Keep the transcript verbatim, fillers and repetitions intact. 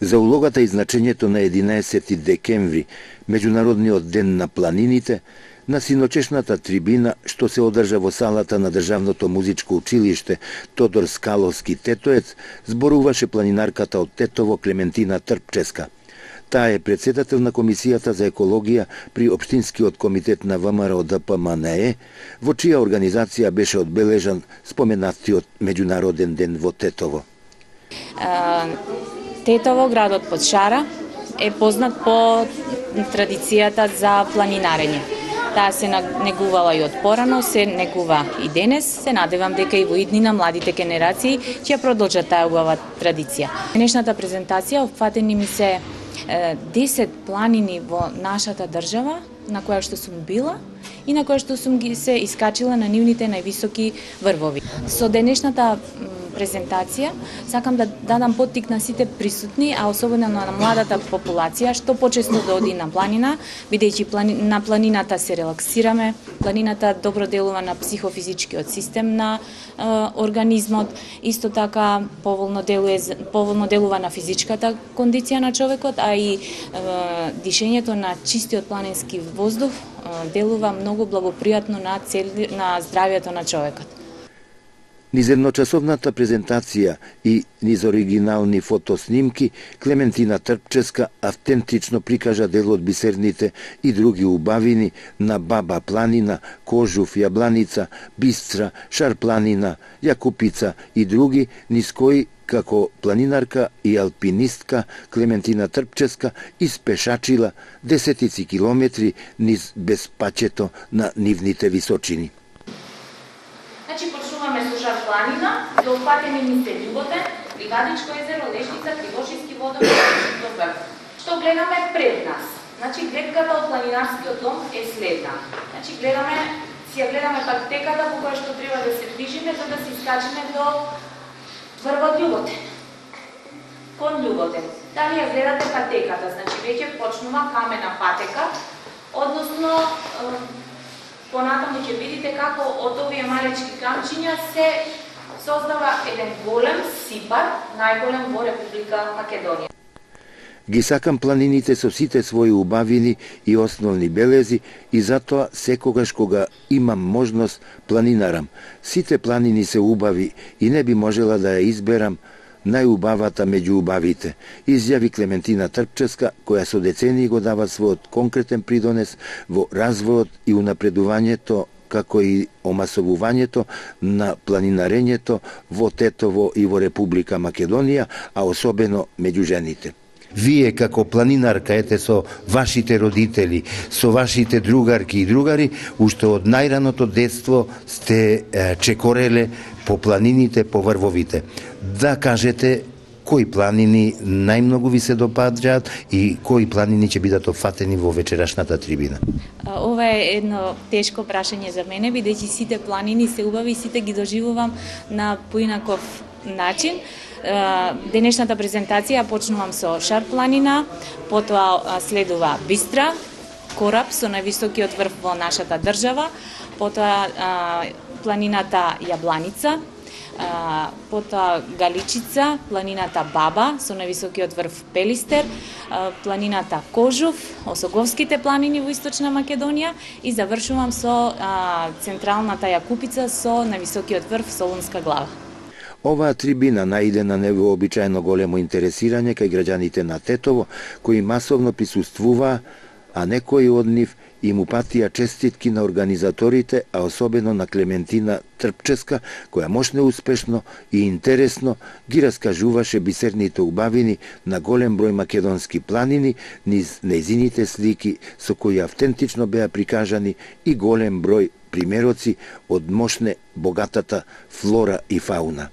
За улогата и значењето на единаесети декември, Меѓународниот ден на планините, на синочешната трибина што се одржа во салата на Државното музичко училиште Тодор Скаловски Тетоец, зборуваше планинарката од Тетово Клементина Трпческа. Таа е председател на Комисијата за екологија при Општинскиот комитет на ВМРО Д П М Н Е, во чија организација беше одбележан споменатиот Меѓународен ден во Тетово. Тетово, градот под шара, е познат по традицијата за планинарење. Таа се негувала и од порано, се негува и денес. Се надевам дека и во иднина младите генерации ќе продолжат таа убава традиција. Денешната презентација опфатени ми се десет планини во нашата држава, на која што сум била и на која што сум ги се искачила на нивните највисоки врвови. Со денешната презентација сакам да дадам поттик на сите присутни, а особено на младата популација, што почесто да оди на планина, бидејќи плани... на планината се релаксираме, планината добро делува на психофизичкиот систем на е, организмот, исто така поволно делува, поволно делува на физичката кондиција на човекот, а и е, дишењето на чистиот планински воздух е, делува многу благопријатно на, цел... на здравјето на човекот. Низ едночасовната презентација и низ оригинални фотоснимки, Клементина Трпческа автентично прикажа дел од бисерните и други убавини на Баба планина, Кожув, Јабланица, Бистра, Шар планина, Јакупица и други, низ кои како планинарка и алпинистка Клементина Трпческа испешачила десетици километри низ безпачето на нивните височини. Значи, почнуваме со Шар планина, за опфатени ни се Љуботен, Бригадичко езеро, Лешница, Кривошијски водопад, до врв. Што гледаме пред нас? Значи, гледката од планинарскиот дом е следна. Значи, гледаме, си ја гледаме патеката по која што треба да се движиме, за да се искачиме до врвот Љуботен. Кон Љуботен. Дали ја гледате патеката? Значи, веќе почнува камена патека, односно понатаму ќе видите како од овие малечки камчиња се создава еден голем сипар, најголем во Република Македонија. Ги сакам планините со сите своји убавини и основни белези и затоа секогаш кога имам можност планинарам. Сите планини се убави и не би можела да ја изберам најубавата меѓу убавите, изјави Клементина Трпческа, која со децении го дава својот конкретен придонес во развојот и унапредувањето, како и омасовувањето на планинарењето во Тетово и во Република Македонија, а особено меѓу жените. Вие како планинарка, ете, со вашите родители, со вашите другарки и другари, уште од најраното детство сте е, чекореле по планините, по врвовите. Да кажете кои планини најмногу ви се допаѓаат и кои планини ќе бидат опфатени во вечерашната трибина? Ова е едно тешко прашање за мене, бидејќи сите планини се убави и сите ги доживувам на поинаков начин. Денешната презентација почнувам со Шар планина, потоа следува Бистра, кораб со највисокиот врв во нашата држава, потоа планината Јабланица, потоа Галичица, планината Баба со највисокиот врв Пелистер, планината Кожув, Осоговските планини во Источна Македонија и завршувам со централната Јакупица со највисокиот врв Солунска глава. Оваа трибина наиде на невообичаено големо интересирање кај граѓаните на Тетово, кои масовно присуствуваа, а некои од нив им упатија честитки на организаторите, а особено на Клементина Трпческа, која мощно успешно и интересно ги раскажуваше бисерните убавини на голем број македонски планини низ нејзините слики со кои автентично беа прикажани и голем број примероци од мощне богатата флора и фауна.